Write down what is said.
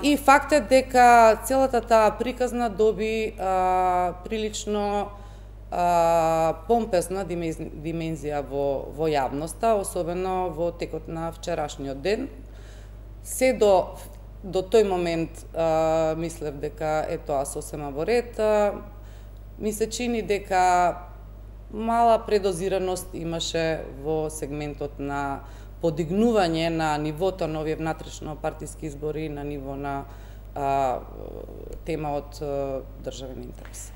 И фактот дека целата таа приказна доби прилично помпезна димензија во јавноста, особено во текот на вчерашниот ден. Се до тој момент мислев дека е тоа сосема во ред. Ми се чини дека мала предозираност имаше во сегментот на подигнување на нивото на овие внатрешно партиски избори на ниво на тема од државен интерес.